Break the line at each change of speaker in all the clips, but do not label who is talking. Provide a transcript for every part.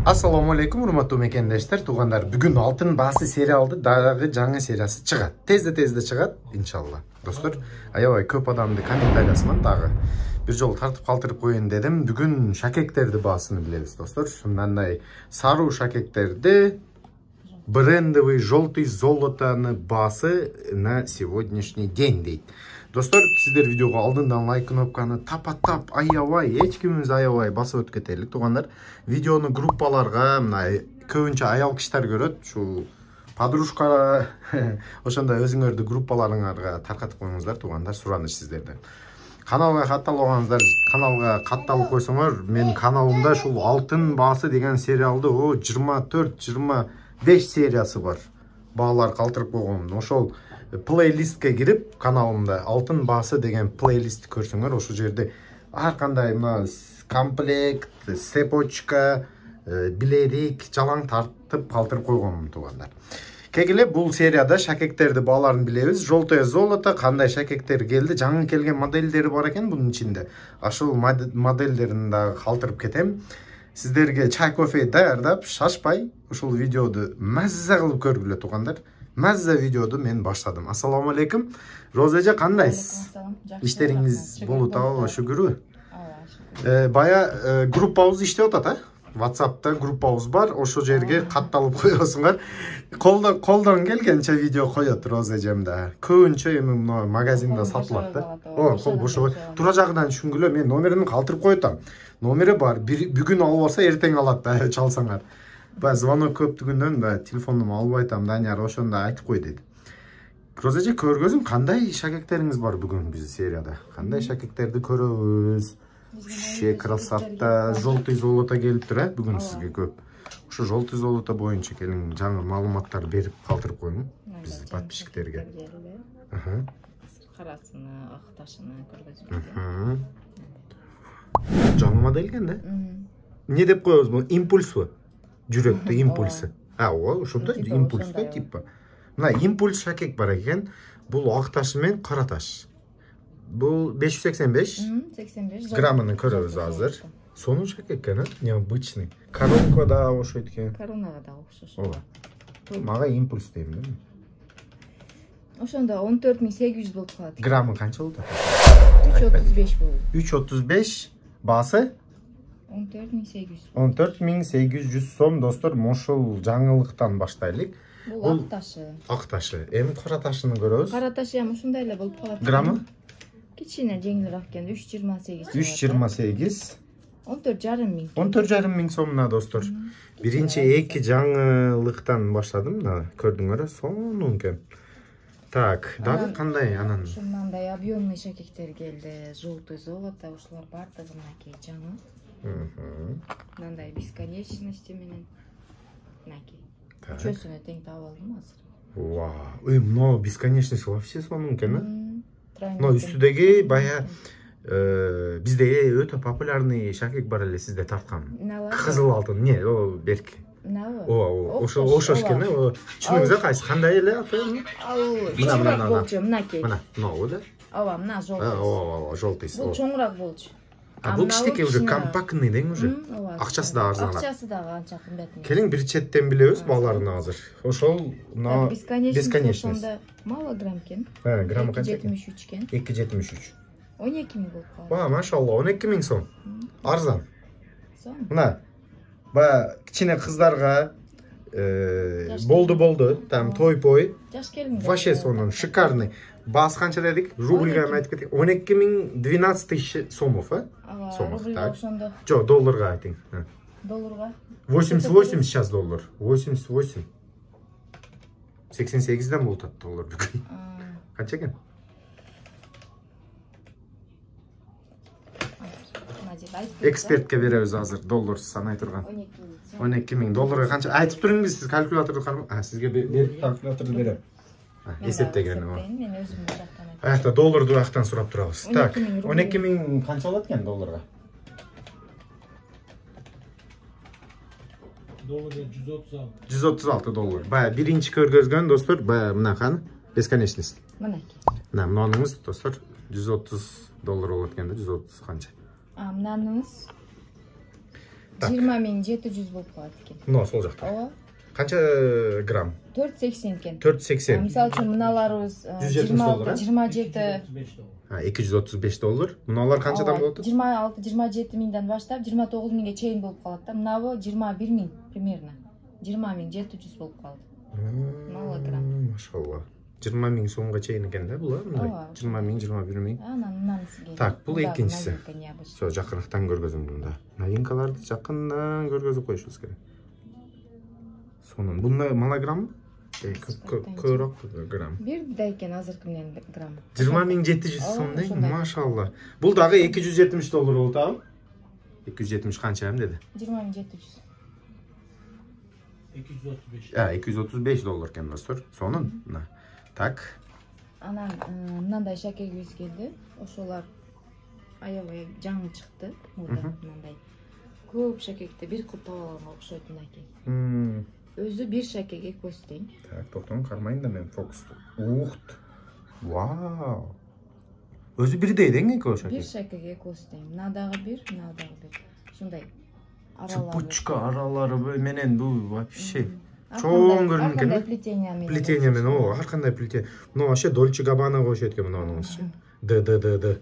Assalomu alaykum, урматтуу мекендештер, туугандар. Бүгүн алтын баасы сериалды дагы жаңы сериясы чыгат. Тезде чыгат, иншалла. Достор, аябай көп адамды комментариясынан дагы бир жолу тартып калтырып коеюн дедим. Бүгүн шакектерди баасын билебиз, достор. Мындай саруу шакектерди брендовый желтый золотоны баасы на сегодняшний день дейт. Достор, сиздер видеого алдындан лайк кнопканы тапаттап, аябай, эч кимибиз аябай басып өтүп кетелик, туугандар. Видеону группаларга, мына көбүнчө аял кишилер көрөт, ушу подружка ошондой өзүңөрдү группаларыңарга таркатып коюңуздар, туугандар, сураныч сиздерден. Каналга катталбагансыздар, каналга катталып койсоңор, менин каналымда ушул алтын баасы деген сериалды 24-25 сериясы бар. Баалар калтырып койгон. Ошол плейлистке кирип, каналымда алтын баасы деген плейлистти көрсөңөр, ошол жерде ар кандай мына комплект, цепочка, билерик, жалаң тартып калтырып койгонмун, туугандар. Кегиле бул серияда шакектерди бааларын билебиз. Желтое золото, кандай шакектер келди, жаңы келген модельдери бар экен бунун ичинде. Ашыл модельдерин дагы калтырып кетем. Сиздерге чай кофе даярдап, шашпай, ушул видеоду мазза кылып көргүлө, туугандар. Мазза видеоду мен баштадым. Ассаламу алейкум. Роза эже, кандайсыз? Иштериңиз болуп атабы, шүгүрбү? Бая группабыз иштеп атат, а? WhatsApp'та группабыз бар, ошол жерге катталып коесуңар. Колдон келгенче видео коет Роза эжем да. Көбүнчө эми мына магазинде сатылат да. Кол бошо. Тура жагынан түшүнгүлө, мен номерин калтырып коетам. Номери бар. Бүгүн албаса эртең алат да, чалсаңар. Ба звонок көптүгүндөн да телефонумду албай атам, Данияр ошондо айтып кой деди. Роза эже, көргөзүң, кандай шакектериңиз бар бүгүн биз серияда? Кандай шакектерди көрөбүз? Вообще красота, желтый золото келип тур, бүгүн сизге көп. Ошо желтый золото боюнча келиң, жаңы маалыматтар берип калтырып коюң биз подписчиктерге.
Карасыны, ак ташыны көргөзүп.
Жаңы модель экен да? Не деп коебуз бул? Импульсбу? Жүрөктө импульсы. Ошондо импульс да типа. Мына импульс шакек бар экен. Бул ак ташы менен кара таш. Бул 585 граммын көрөбүз азыр. Сонун шакек экен, необычный. Коронка да окшойт экен.
Коронага да окшош.
Мага импульс дейм да.
Ошондо 14800 болуп калат.
Граммы канча болот?
335 болот.
335 баасы
14800.
14800 сом, достор. Ошол жаңылыктан баштайлык.
Бул ак ташы.
Ак ташы. Эми кара ташыны көрөбүз.
Кара ташы ham ушундай эле болуп калат.
Граммы?
Кичине жеңилирээк экен, 328.
328.
14,5 миң.
14,5 миң сомуна, достор. Биринчи эки жаңылыктан баштадым, мына көрдүңөр, сонун экен. Так, дагы кандай анан?
Ушундай объемный шакектер келди. Желтый золото, ушулар бардыгы мынакей жаңы. Мындай бесконечности менен. Мынакей. Чөсүнө тең таап алдым азыр.
Вау, мына бесконечность вообще сонун экен, а? Но үстүдөгү бая бизде өтө популярный шакек бар эле, сизде тарткан. Кызыл алтын, не, о берки. Ошош экен, түшүнүңүз кайсы, кандай эле аты?
Мына болчу, мынакей.
Мына, мына да?
Ооба, мына желтый.
Желтый.
Бул чоңураак болчу.
Бул кичинекей уже компактный дең уже. Акчасы да арзан.
Акчасы да анча кымбат.
Келиң бир четтен билебиз бааларын азыр. Ошол мына бесконечность.
Мало грамм экен.
Граммы канча?
273 экен.
273.
12 миң болуп калат.
Машалла, 12 миң сом. Арзан. Мына бая кичине кыздарга болду, там той-пой.
Жаш келин.
Вообще сонун, шикарный. Баасы канча дедик? Рубльга айтып кетик. 12 миң 12 тысяч сомов, а? Сомов, так. Жо, долларга айтың.
Долларга?
88 сейчас доллар. 88. 88'den болуп атат доллар бүгүн. Канча экен? Экспертке беребиз азыр доллар санай турган. 12 миң долларга канча? Айтып туруңуз, сиз калькуляторду карап, сизге берип калькуляторду берем. Эсептеген о.
Мен өзүм жактан.
Аякта долларду аяктан сурап турабыз. Так, 12 миң канча болот экен долларга?
Долларга 136.
136 доллар. Бая биринчи көргөзгөн, достор, бая мынаканы бесконечность.
Мынакей.
Мына мынаныңыз, достор, 130 доллар болот экен да, 130 канча.
Мынаныңыз 20.700 болуп калат экен.
Мына сол жакта.
Ооба.
Канча грамм?
480 экен.
480.
Мисалы үчүн мыналарыбыз 27
235 доллар. Мыналар канчадан болот?
26-27 миңден баштап 29 миңге чейин болуп калат да. Мынабы 21 миң примерно. 20.700 болуп калды. 0 грамм.
Машалла. 20 миң сомго чейин экен да бул, мындай. 20 миң, 21 миң.
Анан сизге.
Так, бул экинчиси. Со, жакырыктан көргөзөм мында. Новинкаларды жакындан көргөзүп коюшубуз керек. Сонун. Бунда малограмм? Көбүрөөк грамм.
Бир да экен азыркы менен грамм.
20.700 сом дейм. Машалла. Бул дагы 270 доллар болот абы? 270 канча эм деди?
20.700.
235.
235 доллар экен достор. Сонун. Так.
Анан мындай шакегибиз келди. Ошолар аябай жаңы чыкты. Мындай көп шакекти бир кылып таба алганга окшойт мынакей. Өзү бир шакеге көз тең.
Так, токтоң кармайын да мен фокусту. Ухт. Вау. Өзү бирдей дең экөө шаке.
Бир шакеге көз тең. Мына дагы бир, мына дагы бир. Ушундай
цепочка аралары менен бул вообще чоң көрүнүп экен да. Плетение менен, ар кандай плетение. Мына вообще Dolce Gabbanaга окшойт экен мынаныңызчы. Д.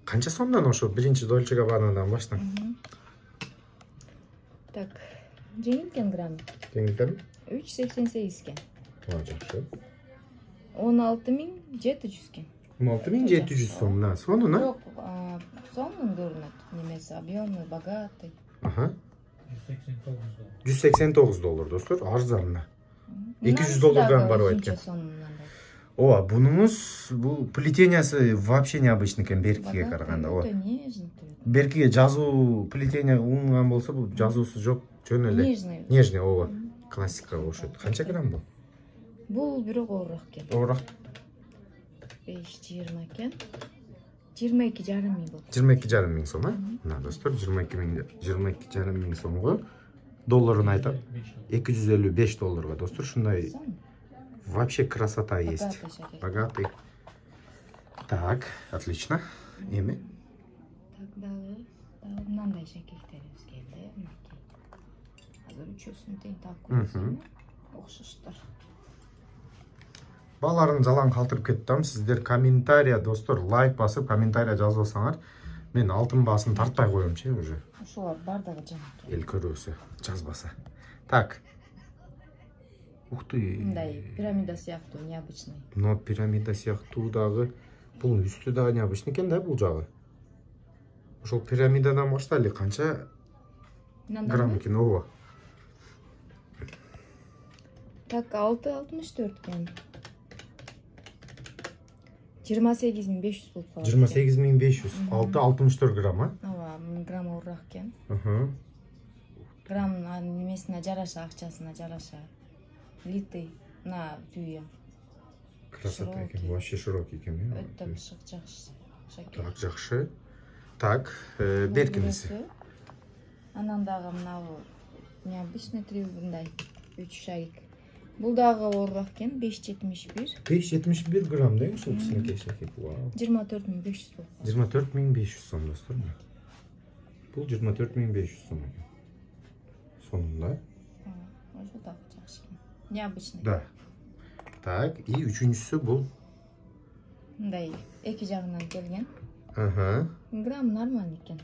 Канча сомдон ошо биринчи Dolce Gabbana'дан баштан?
Так. Жеңилкен грамм.
Жеңилкен?
3.88 кен.
Жакшы.
16.700 кен.
16.700 сом, на, сонун, а?
Жок, сонун көрүнөт. Немеси объемный, богатый.
189 доллар, достор, арзан. 200 доллардан барып экен. Ооба, бунуңуз бул плетениясы вообще необычный экен беркиге караганда. Ооба. Беркиге жазуу плетение унган болсо, бул жазуусу жок, жөн эле. Нежный, ооба. Классикага окшойт. Канча грамм бул?
Бул бирок оорураак экен.
Оорураак.
5-20 экен. 22,5 миң болот.
22,5 миң сом, а? Мына достор, 22,5 миң сомго долларын айтам. 255 долларга, достор, ушундай вообще красота есть. Богатый. Так, отлично. Эми?
Так, дагы мындай шакектерибиз келди. Азыр үчөөсүн тең таап көрсөм, окшоштор.
Баларын жалаң калтырып кеттим. Сиздер комментария, достор, лайк басып, комментария жазбасаңар, мен алтын баасын тартпай коемчу уже.
Ошолор бардыгы жаңы.
Эл көрөсө, жазбаса. Так. Ух ты.
Мындай пирамида сыяктуу, необычный.
Но пирамида сыяктуу дагы, бул үстү дагы необычный экен да бул жагы. Ошол пирамидадан баштайлы канча грамм экен, ооба.
Так, 6.64 экен. 28.500 болуп калат.
28.500. 6.64 грамм, а?
Ооба, грамм оорураак экен. Грамм немесине жараша, акчасына жараша. Литый на түйө.
Красота экен, вообще широкий экен.
Өтө бышык жакшы.
Так, жакшы. Так, беркиниси.
Анан дагы мынабу необычный мындай 3 шарик. Бул дагы оорураак экен, 5.71.
5.71 грамм да, ушул кичинекей шакек.
24.500 болуп калат.
24.500 сом, достор. Бул 24.500 сом экен. Сонун да?
Ошо дагы жакшы. Необычный.
Да. Так, и үчүнчүсү бул
мындай эки жагынан келген.
Грамм
нормаль экен.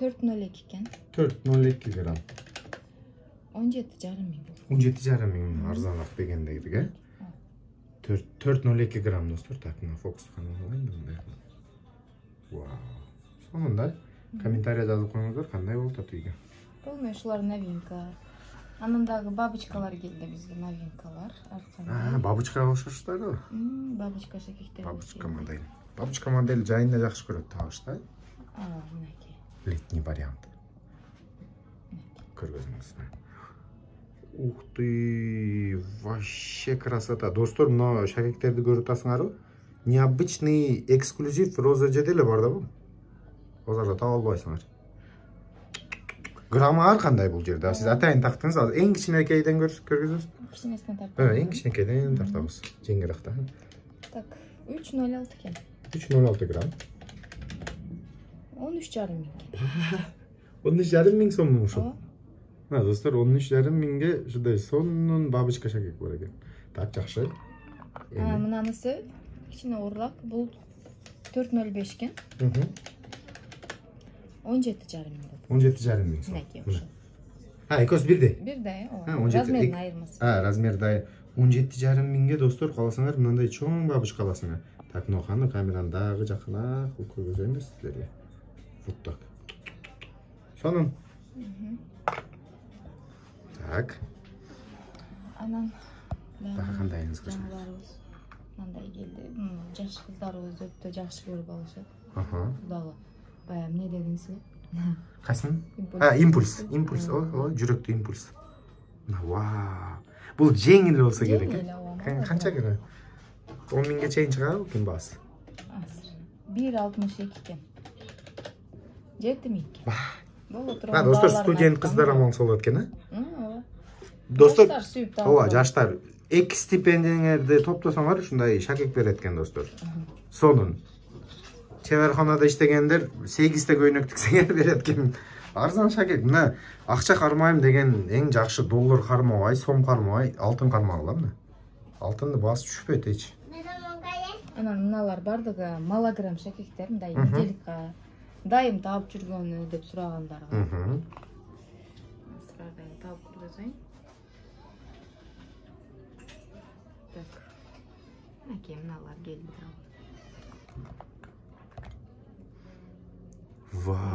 4.02 экен.
4.02 грамм.
17,5 миң.
17,5 миң арзаныраак дегендейдик, э? 4.02 грамм, достор. Так, мына фокус кандай мындай. Вау. Сонун да? Комментария жазып коюңуздар, кандай болуп атат үйгө.
Бул ушулар новинка. Анан дагы бабочкалар келди бизге, новинкалар.
Бабочкага окшоштор да?
Бабочка шакектер.
Бабочка модель. Бабочка модель жайында жакшы көрөт табыш да?
Мынакей.
Летний вариант. Көргөзүңүз. Ух ты, вообще красота. Достор, мына шакектерди көрүп атасыңарбы? Необычный эксклюзив роза жеде эле бар да бул. Базарда таба албайсыңар. Граммы ар кандай бул жерде. Сиз атайын тактыңыз, азыр эң кичинекейден көргөзөбүз.
Кичинесине тартабыз.
Эң кичинекейден тартабыз. Жеңилирээк да.
Так, 3.06 экен.
3.06 грамм.
13,5 миң.
13,5 миң сомдун ушул. Мына достор 13,5 миңге ушундай сонун бабочка шакек бар экен. Так жакшы.
Мынанысы кичине оорураак. Бул 4,05 экен. 17,5 миң.
17,5 миң сом. Экөөсү бирдей.
Бирдей, размерин айырмасы.
Размерде 17,5 миңге достор, каласаңар мындай чоң бабочка аласыңар. Так, ноханы камераны дагы жакына көргөзөйүн да силерге. Вот так. Сонун. Так.
Анан
кандайыңыз кыздар?
Мындай келди. Жаш кыздарыбыз өтө жакшы көрүп алышат. Дагы баягы эмне дедиңиз?
Кайсын? Импульс. Импульс. О, жүрөктүү импульс. Вау. Бул жеңил болсо керек. Канча керек? 10 миңге чейин чыгабы экен баасы?
1,62 экен. 7 миң.
Достор, студент кыздар амал болот экен, Достор, жаштар 2 стипендияңерди топтосоңор ушундай шакек берет экен, достор. Сонун. Чеберханада иштегендер 8 көйнөк тиксеңер берет экен. Арзан шакек. Мына акча кармайм деген эң жакшы доллар кармабай, сом кармабай, алтын кармагыла мына. Алтынды баасы түшпөйт эч.
Анан мыналар бардыгы малограмм шакектер, мындай неделикка дайым таап жүргөнү деп сурагандар. Сразу таап көргөзөйүн. Так. Мынакей мыналар келди.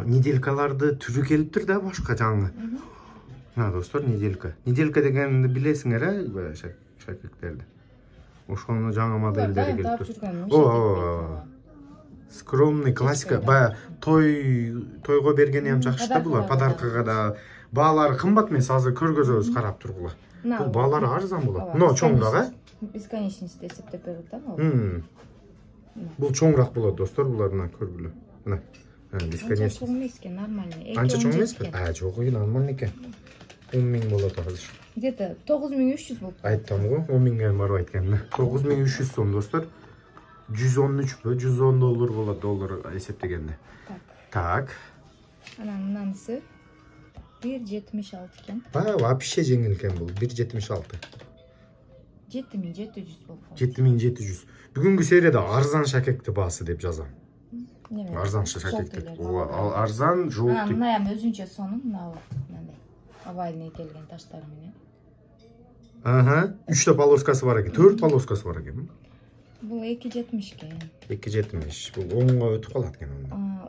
Неделькаларды түрү келиптир да башка жаңы. Достор, неделька. Неделька дегенди билесиңер, шакектерди. Ошону жаңы модельдери келиптир. Скромный классика. Баягы тойго бергени ham жакшы да булар, подаркага да. Баалары кымбат эмес, азыр көргөзөбүз, карап тургула. Бул баалары арзан болот. Но чоңураак,
бесконечность эсептеп берет да.
Бул чоңураак болот, достор, булардан көргүлө. Мына. Бесконечность.
Чоң эмес экен, нормальный.
Анча чоң эмеспи? Жок, нормальный экен. 10 миң болот азыр.
Где-то 9300 болуп.
Айттым го, 10 миңге барбайт экен. 9300 сом, достор. 113 110 доллар болот, доллар эсептегенде. Так.
Анан мынанысы 1,76 экен.
Вообще жеңил экен бул, 1,76.
7700 болуп.
7700. Бүгүнкү серияда арзан шакекти баасы деп жазам. Арзан шакектик. Арзан, жолтик.
Мына эми өзүнчө сонун, мындай овальный келген таштар менен.
3 полоскасы бар экен, 4 полоскасы бар экен.
Бул 2,70 экен.
2,70. Бул 10го өтүп калат экен.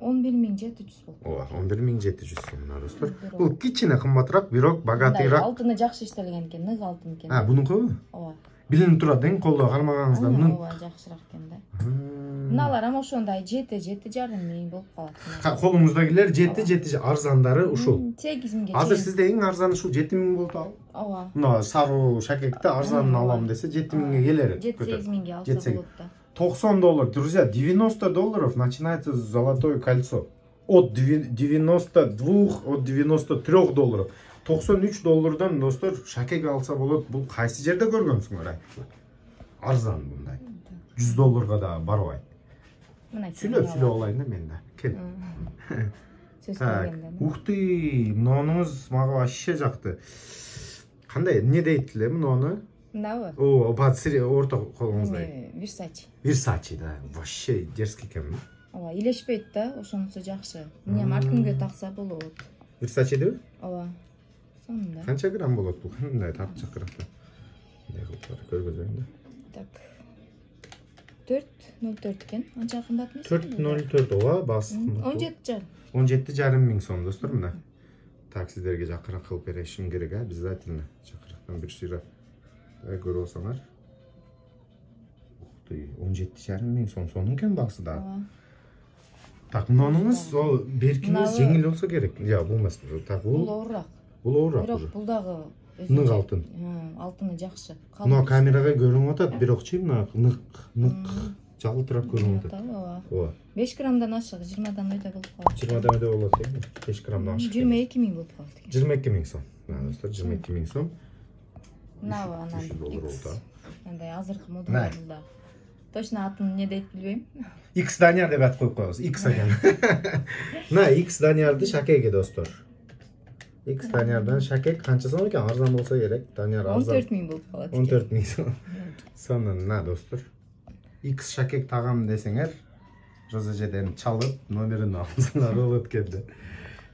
11700 болуп.
11700 сом, достор. Бул кичине кымбатыраак, бирок богатыйраак.
Алтыны жакшы иштелген экен, нык алтын экен.
Бунукубу?
Ооба.
Билинип турат, колдо кармаганыңызда муну.
Ооба, жакшыраак экен да. Мыналар ам ошондой 7,5 миң болуп калат.
Колуңуздагилер 7 арзандары ушул.
8 миңге.
Азыр сизде эң арзаны ушул 7 миң болуп ал.
Ооба.
Мына саруу шакекти арзанын алам десе 7 миңге келер.
7-8 миңге алса болот да.
90 доллар, друзья, 90 долларов начинается золотое кольцо. От 92, от 93 долларов. 93 доллардан, достор, шакек алса болот. Бул кайсы жерде көргөнсүңөр? Арзан мындай. 100 долларга да барбайт. Сүйлөп алайын да мен да. Кел. Ух ты, мынуңуз мага вообще жакты. Кандай, эмне дейт эле муну?
Мынабы?
Орто колуңуздай.
Versace,
да. Вообще дерзкий экен.
Ооба, илешпейт да, ошонусу жакшы. Эмне ар кимге такса болот.
Versace деби?
Ооба. Сонун да.
Канча грамм болот бул? Мындай тартча кыракта. Мындай кылып көргөзөйүн да.
Так. 4,04 экен. Анча кымбат эмес.
4,04, ооба, баасы.
17,5.
17,5 миң сом, достор, мына. Так, сиздерге жакыраак кылып беришим керек, обязательно. Жакырактан бир сыйра көрүп алсаңар. Ух ты, 17,5 миң сом, сонун экен баасы да. Так, мынуңуз ол беркиңиз жеңил болсо керек. Бул эмес. Так, бул
оорураак.
Бул оорураак.
Бирок бул дагы
нык алтын.
Алтыны жакшы.
Мына камерага көрүнүп атат, бирокчу мына нык жалтырап көрүнүп атат. Ооба.
5 граммдан ашык, 20дан өйдө болуп калат.
20дан өйдө болот экен. 5 граммдан ашык.
22 миң болуп калат экен.
22 миң сом. Достор, 22 миң сом.
Мынабы анан мындай азыркы модалда. Точно атын эмне дейт билбейм.
X Данияр деп ат коюп коебуз. X экен. Мына X Даниярды шакеги, достор. X Даниярдан Шакек канча сом экен? Арзан болсо керек. Данияр арзан.
14 000 болуп калат.
14 000 сом. Сонун, достор. X Шакек тагам десеңер, Розажеден чалып, номерин алсаңар болот экенди.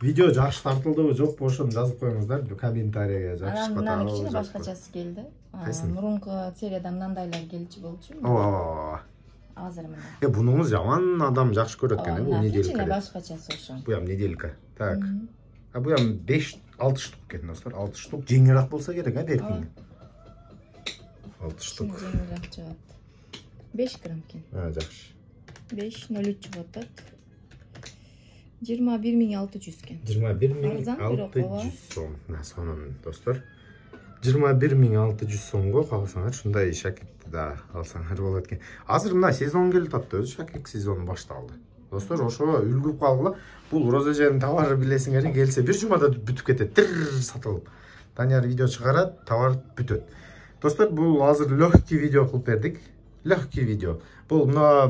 Видео жакшы тартылдыбы, жокпу ошону жазып коюңуздар комментарийге. Жакшы
Анан кичине башкачасы келди. Мурунку серияда мындайлар келчү болчу.
Ооба.
Азыр мына.
Бунуңуз жаман адам жакшы көрөт экен, бу неделька.
Кичине башкачасы ошо.
Бу ям неделька. Так. Бу ям 5-6 штук экен, достор. 6 штук жеңилирээк болсо керек, беркиң. 6 штук.
Жеңилирээк чыгат. 5 грамм экен.
Жакшы.
5.03 чыгат так. 21600 экен.
21600 сом. Сонун, достор. 21600 сомго калсаңар, ушундай Шакекти да алсаңар болот экен. Азыр мына сезон келип атты, өзү Шакек сезону башталды. Достор, ошо үлгүп калгыла. Бул Розажедин товары билесиңер, келсе бир жумада бүтүп кетет, сатылып. Данияр видео чыгарат, товар бүтөт. Достор, бул азыр легкий видео кылып бердик. Легкий видео. Бул мына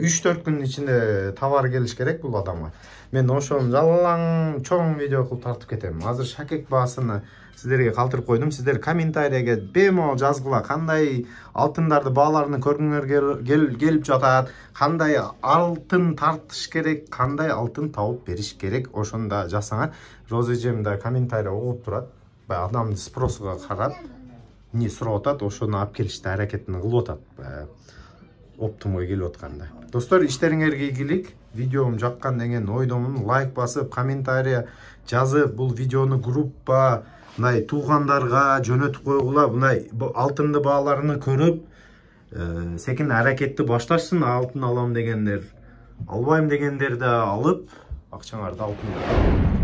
3-4 күн ичинде товар келиш керек бул адамга. Мен ошону жалаң чоң видео кылып тартып кетем. Азыр Шакек баасыны сиздерге калтырып койдум. Сиздер комментарийге бемол жазгыла, кандай алтындарды бааларын көргүңөр келип жатат, кандай алтын тартыш керек, кандай алтын тауып бериш керек, ошону да жазсаңар. Розажем да комментарий окуп турат. Баягы адамдын спросуга карап, не сурап атат, ошону алып келишти аракетин кылып атат. Оптумга келип атканда. Достор, иштериңерге ийгилик. Видеом жаккан деген ойдомун. Лайк басып, комментарий жазып, бул видеону группа, мындай туугандарга жөнөтүп койгула. Мындай алтынды бааларını көрүп, секин аракетти башташсын. Алтын алам дегендер, албайм дегендер да алып, акчаңарды алтынга